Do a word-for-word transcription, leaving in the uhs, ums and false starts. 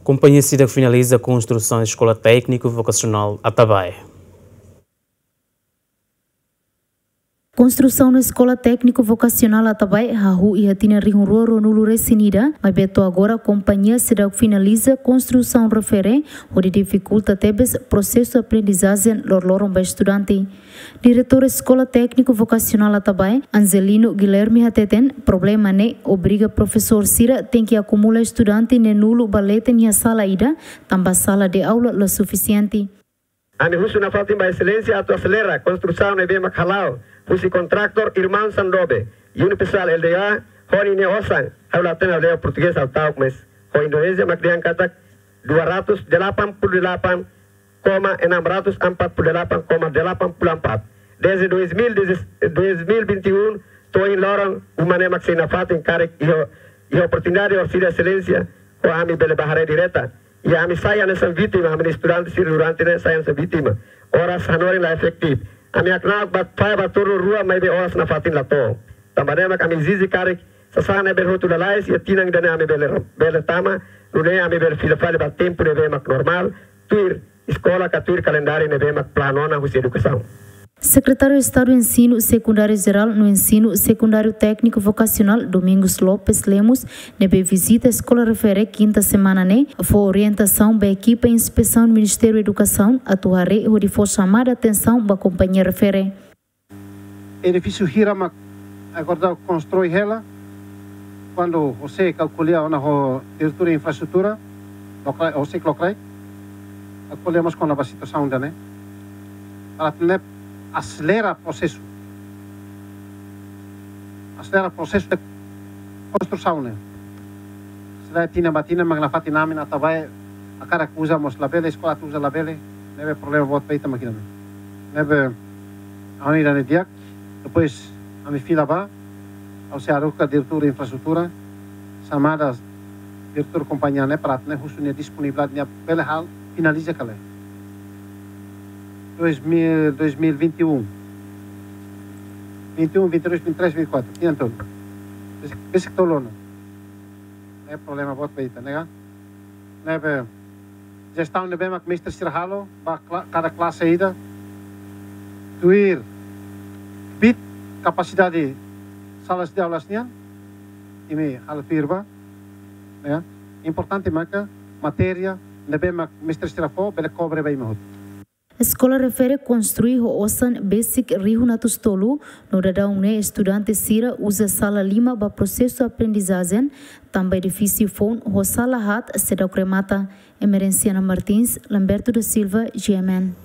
Kompañia seidauk finaliza konstrusaun Eskola Tékniku Vokasionál Atabae. Konstrusaun Eskola Tékniku Vokasionál Atabae hahú iha tinan rihun rua ruanulu resin ida, maibé to'o agora kompañia seidauk finaliza konstrusaun refere, hodi difikulta tebes prosesu aprendizajen loroloron ba estudante. Diretór Eskola Tékniku Vokasionál Atabae, Angelino Guilherme hateten, problema ne'e obriga profesór sira tenke akumula estudante neen-nulu ba leten iha sala ida, tanba sala de aula la sufisiente. Ami husu nafatin ba Exelénsia atu aselera konstrusaun ne'ebé mak hala'o husi kontraktór Irmaun Sandobe, Unipesal L D A, ho ninia osan, ha'u la hatene aldeia portugés, ha'u ta'uk, mas ho Indonézia mak dehan katak dua ratus delapan puluh delapan koma enam ratus empat puluh delapan koma delapan puluh empat. Desde dois mil, desde dois mil e vinte e um, to'o ohin loron, uma ne'e mak sei nafatin karik iha, iha oportunidade orsida Exelénsia, ho ami bele bá haree direta. I ami sai hanesan vítima, ami estudante sira durante ne'e sai hanesan vítima. Oras hanorin la efetivu. Ami hakna'ak ba fahe ba turnu rua maibé oras nafatin la to'o. Tanba ne'e mak ami ezije karik sasán ne'e bele hotu lalais, iha tinan ida-ne'e ami bele, bele tama, nune'e ami bele fila fali ba tempu ne'ebé mak normál, tuir eskola ka tuir kalendáriu ne'ebé mak planu ona husi edukasaun. Sekretáriu Estadu Ensinu Sekundáriu Jerál no Ensinu Sekundáriu Tékniku Vokasionál, Domingos Lopes Lemos, ne'ebé vizita eskola refere kinta semana ne'e, fó orientasaun ba ekipa inspesaun Ministériu Edukasaun atu haree hodi fó xamada atensaun ba kompañia refere. Edifísiu hira mak agora daudaun konstrui hela. Kuandu José kalkula ona ho diretór infraestrutura, lokraik, José lokraik, kalkula mós kona-ba situasaun ida-ne'e, para tenke aselera prosesu. Aselera prosesu de konstrusaun ne'e. Selae tinan ba tinan mak nafatin ami-nia Atabae, hakarak uza mós labele, eskola atu uza labele, ne'ebé problema boot ba ita mak ida-ne'e. Ne'ebé, ami ida-ne'e di'ak, depois ami fila ba, ha'u sei haruka diretór infraestrutura, xamada diretór kompañia ne'e para atu nune'e husu nia disponibilidade nia bele halo, finaliza ka lae. Dois mil, dois mil e vinte e um. Vinte e um, vinte e dois, vinte e três, vinte e quatro, tinan tolu. Besik, besik tolu ona. Ne'e problema boot ba ita, ne'e ka? Ne'ebé jestaun ne'ebé mak mestre sira halo ba kla-, kada klase ida, tuir kbiit kapasidade salas de aulas nian, imi halo tuir ba, ya. Importante maka matéria ne'ebé mak mestre sira fó bele kobre ba imi hotu. Eskola refere konstrui ho osan besik rihun atus tolu, no daudaun ne'e estudante sira uza sala lima ba prosesu aprendizajen, tanba edifísiu foun ho sala haat seidauk remata. Emerenciana Martins, Lamberto da Silva, G M N.